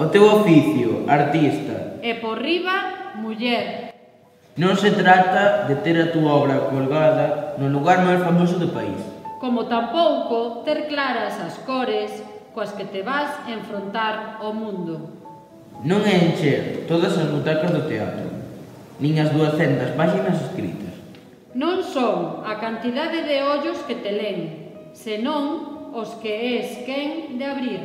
O teu oficio, artista. E por riba, muller. Non se trata de ter a túa obra colgada no lugar máis famoso do país. Como tampouco ter claras as cores coas que te vas enfrontar ao mundo. Non é encher todas as butacas do teatro, nin as 200 páxinas escritas. Non son a cantidade de ollos que te len, senón os que és quen de abrir.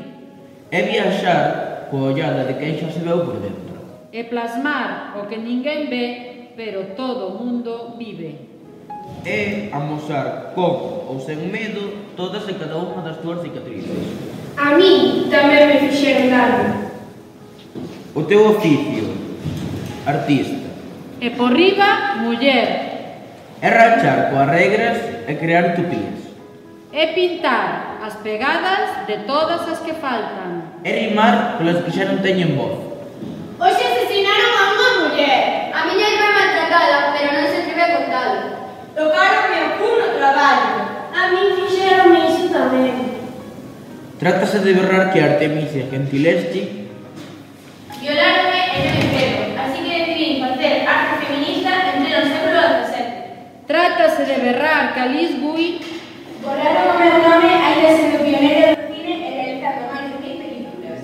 É viaxar coa ollada de quen xa se veu por dentro. E plasmar o que ninguén ve, pero todo o mundo vive. É amosar como ou sen medo todas e cada unha das túas cicatrices. A mí tamén me fixeron dano. O teu oficio, artista. E por riba, muller. É rachar coas regras e crear utopías. É pintar as pegadas de todas as que faltan. É rimar polas que xa non teñen voz. Hoxe asesinaron a unha muller. A miña irmá maltratala, pero non se atreve a contalo. Tocaronme o cu no traballo. A mí fixeronme iso tamén. Trátase de berrar que Artemisia Gentileschi Violaronme e non me quedo, así que decidí facer arte feminista en pleno século XVII. Trátase de berrar que Alice Guy Borraron o meu nome ainda sendo pioneiro do cine e realizando máis de 10 películas.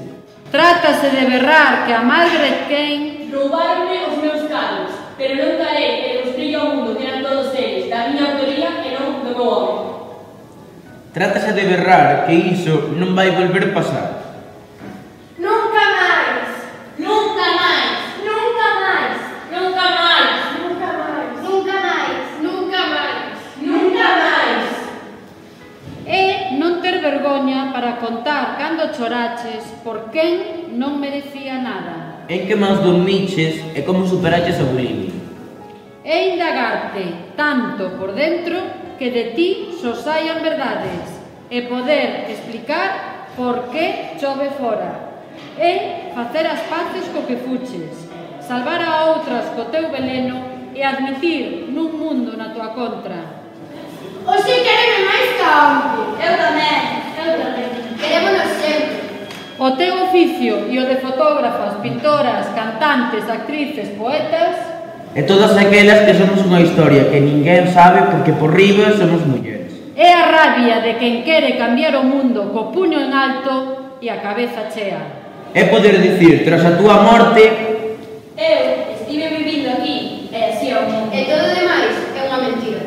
Trátase de berrar que a Margaret Kane Roubaronme os meus carlos, pero non darei e mostrei ao mundo que eran todos eles da miña autoría e non do meu home. Trátase de berrar que iso non vai volver pasar. Nunca máis! Nunca máis! Nunca máis! Nunca máis! Nunca máis! Nunca máis! Nunca máis! Nunca máis! é non ter vergoña para contar cando choraches por quen non merecía nada. En que mans dormiches e como superaches a bulimia. É indagarte tanto por dentro que de ti só saian verdades e poder explicar por que chove fora. É facer as paces co que fuches, salvar a outras co teu veleno e admitir nun mundo na tua contra. Hoxe quéreme máis que onte. Eu tamén. Querémonos sempre. O teu oficio e o de fotógrafas, pintoras, cantantes, actrices, poetas E todas aquelas que somos unha historia que ninguén sabe porque por riba somos mulleres. é a rabia de quen quere cambiar o mundo co puño en alto e a cabeza chea. É poder dicir, tras a túa morte, Eu estive vivindo aquí e así é o mundo. E todo demais é unha mentira.